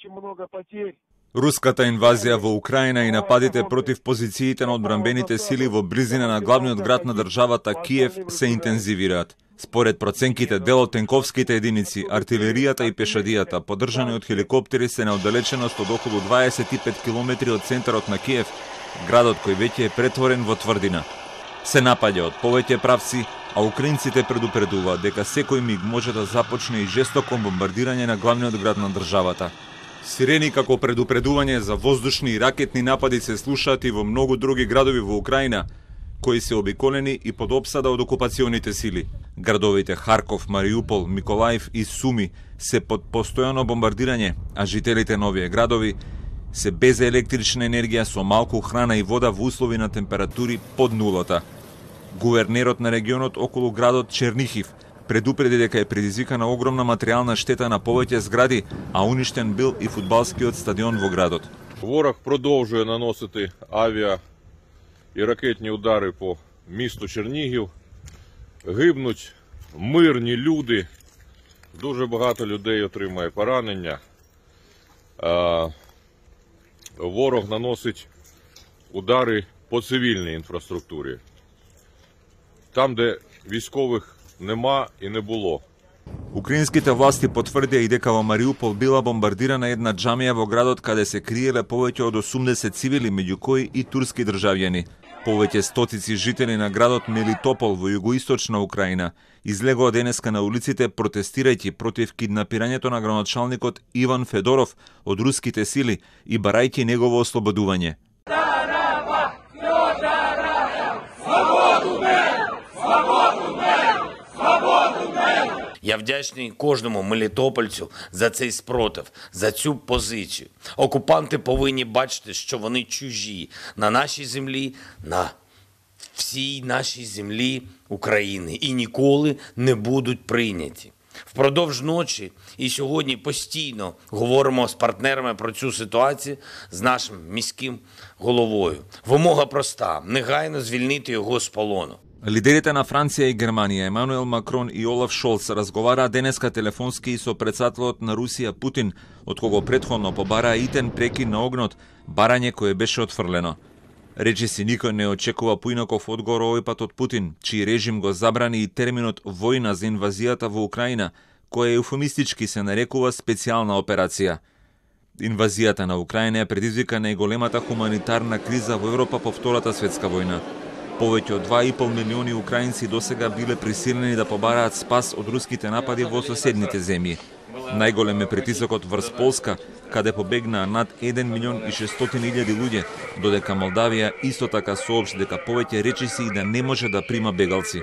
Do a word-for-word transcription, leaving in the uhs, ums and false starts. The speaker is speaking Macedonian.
очень много потерь. Руската инвазија во Украина и нападите против позициите на одбранбените сили во близина на главниот град на државата Киев се интензивираат. Според проценките, дел од тенковските единици, артилеријата и пешадијата, поддржани од хеликоптери, се на оддалеченост од околу дваесет и пет километри од центарот на Киев, градот кој веќе е претворен во тврдина. Се напаѓа од повеќе правци, а украинците предупредуваат дека секој миг може да започне и жестоко бомбардирање на главниот град на државата. Сирени како предупредување за воздушни и ракетни напади се слушаат и во многу други градови во Украина, кои се обиколени и под опсада од окупационите сили. Градовите Харков, Мариупол, Миколаев и Суми се под постојано бомбардирање, а жителите на овие градови се без електрична енергија, со малку храна и вода во услови на температури под нулата. Гувернерот на регионот околу градот Чернихив предупреди дека е предизвикана огромна материјална штета на повеќе згради, а уништен бил и фудбалскиот стадион во градот. Ворог продолжує наносити авіа і ракетні удари по місту Чернігів. Гибнуть мирні люди, дуже багато людей отримає поранення. Ворог наносить удари по цивільній інфраструктурі, там, де військових нема и не було. Украинските власти потврдија и дека во Мариупол била бомбардирана една џамија во градот каде се криеле повеќе од осумдесет цивили, меѓу кои и турски државјани. Повеќе стотици жители на градот Мелитопол во југоисточна Украина излегоа денеска на улиците протестирајќи против киднапирањето на градоначалникот Иван Федоров од руските сили и барајќи негово ослободување. Я вдячний кожному мелітопольцю за цей спротив, за цю позицію. Окупанти повинні бачити, що вони чужі на нашій землі, на всій нашій землі України і ніколи не будуть прийняті. Впродовж ночі і сьогодні постійно говоримо з партнерами про цю ситуацію з нашим міським головою. Вимога проста – негайно звільнити його з полону. Лидерите на Франција и Германија, Емануел Макрон и Олаф Шолц, разговараа денеска телефонски со претседателот на Русија Путин, од кого претходно побараа итен прекин на огнот, барање кое беше отфрлено. Речиси никој не очекува поинаков одговор овој пат од Путин, чиј режим го забрани и терминот војна за инвазијата во Украина, која еуфемистички се нарекува специјална операција. Инвазијата на Украина е предизвика најголемата хуманитарна криза во Европа по Втората светска војна. Повеќе од два и пол милиони украинци досега биле присилени да побараат спас од руските напади во соседните земји. Најголем е притисокот врз Полска, каде побегнаа над еден милион и шестстотини илјади луѓе, додека Молдавија исто така соопшти дека повеќе речиси и да не може да прима бегалци.